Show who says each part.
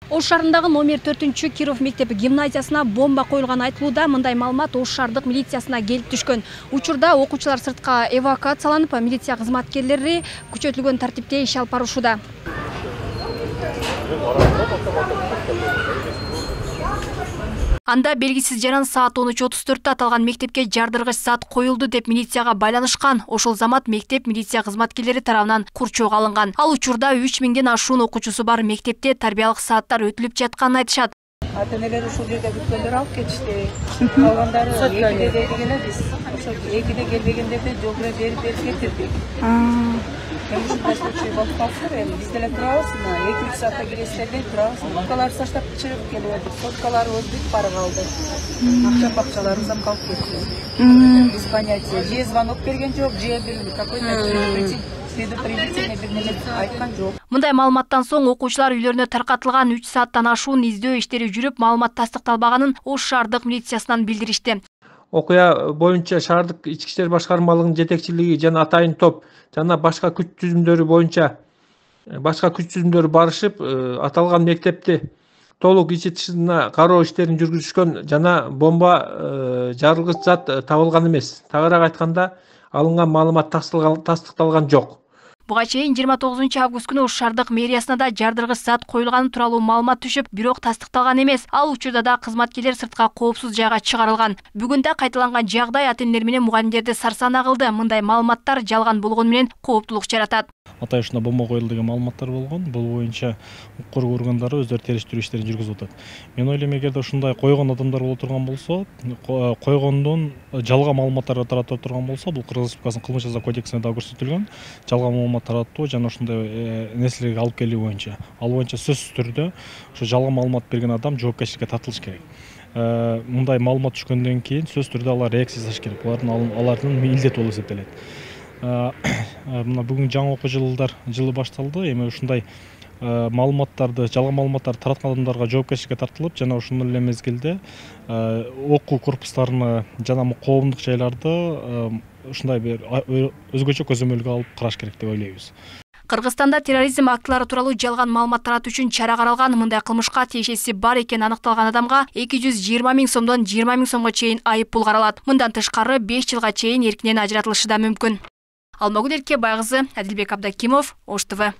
Speaker 1: Ош шаарындагы номер 4 Киров мектеби гимназиясына бомба коюлганы айтылууда. Мындай маалымат Ош шаардык милициясына келип түшкөн. Учурда окуучулар сыртка эвакуацияланып, милиция кызматкерлери күчөтүлгөн тартипте иш алып барышууда. Анда белгисиз жаран саат 13:34 аталган мектепке жардыргыч зат коюлду деп милицияга байланышкан. Ошол замат мектеп милиция кызматкерлери тарабынан курчоого алынган. Ал учурда 3000ден ашуун окуучусу бар мектепте тарбиялык сааттар өтүлүп жатканын айтышат.
Speaker 2: Ата-энелер ушул жерде бүткөндөр алып кетишти. Калгандары 2-де келди эле биз. Ошо 2-де келбегендерди жол берип кетирдик. Ушундай случай болуп калса, биз деле турабыз, 2-3 саатта киресиздер деп турабыз. Суткаларыбыз таштап чыгып келип атып, суткаларыбыз бүт бара калды. Акча бакчаларыбыз ham калып кетти. Без понятия. Же звонок берген жок, же какой-то предупредительный бир неме айткан жок.
Speaker 1: Мындай маалыматтан соң окуучулар үйлөрүнө таркатылган 3 сааттан ашуун издөө иштери жүрүп, маалымат тастыкталбаганын Ош шаардык милициясынан билдиришти.
Speaker 3: Окуя боюнча шаардык ички иштер башкармалыгынын жетекчилиги жана атайын топ жана башка күч түзүмдөрү барышып, аталган мектепти толук ичи тышына кароо иштерин жүргүзүшкөн жана бомба жарылгыч зат табылган эмес. Тагыраак айтканда, алынган маалымат тастыкталган жок.
Speaker 1: Буга чейин 29 август күнү Ош шаардык мэриясына да жардыргыч зат коюлганы тууралуу маалымат түшүп, бирок тастыкталган эмес. Ал учурда да кызматкерлер сыртка коопсуз жайга чыгарылган. Бүгүн да кайталанган жагдай ата-энелер менен мугалимдерди сарсана кылды. Мындай маалыматтар жалган болгону менен кооптулук жаратат.
Speaker 4: Атай ушунда бомба коюлду деген маалыматтар болгон. Бул боюнча укук коргоо органдары өздөрү териштирүү иштерин жүргүзүп атат. Мен ойлойм, эгерде ушундай койгон адамдар боло турган болсо, койгондон жалган маалыматтар таратып турган болсо, бул Кыргыз Республикасынын кылмыш жаза кодексинде да көрсөтүлгөн. Жалган маалымат таратуу жана ушундай нерселерге алып келүү боюнча. Ал боюнча сөзсүз түрдө ушу жалган маалымат берген адам жоопкерчиликке тартылыш керек. Мындай маалымат түшкөндөн кийин сөзсүз түрдө алар реакция жасаш керек. Алардын милдети болуп эсептелет. Мына бүгүн жаңы окуу жылы башталды. Эми ушундай маалыматтарды, жалган маалыматтарды тараткан адамдарга жоопкерчиликке тартылып, жана ошондой эле мезгилде окуу корпустарына жана коомдук жайларды ушундай бир өзгөчө көзөмөлгө алып караш керек деп ойлойбуз.
Speaker 1: Кыргызстанда терроризм актылары тууралуу жалган маалымат таратуу үчүн чара каралган. Мындай кылмышка тиешеси бар экени аныкталган адамга 220 000 сомдон 20 000 сомго чейин айып пул каралат. Мындан тышкары 5 жылга чейин эркинен ажыратылышы да мүмкүн. Алмагүл Эркебай кызы, Адилбек Абдакимов, Ош ТВ.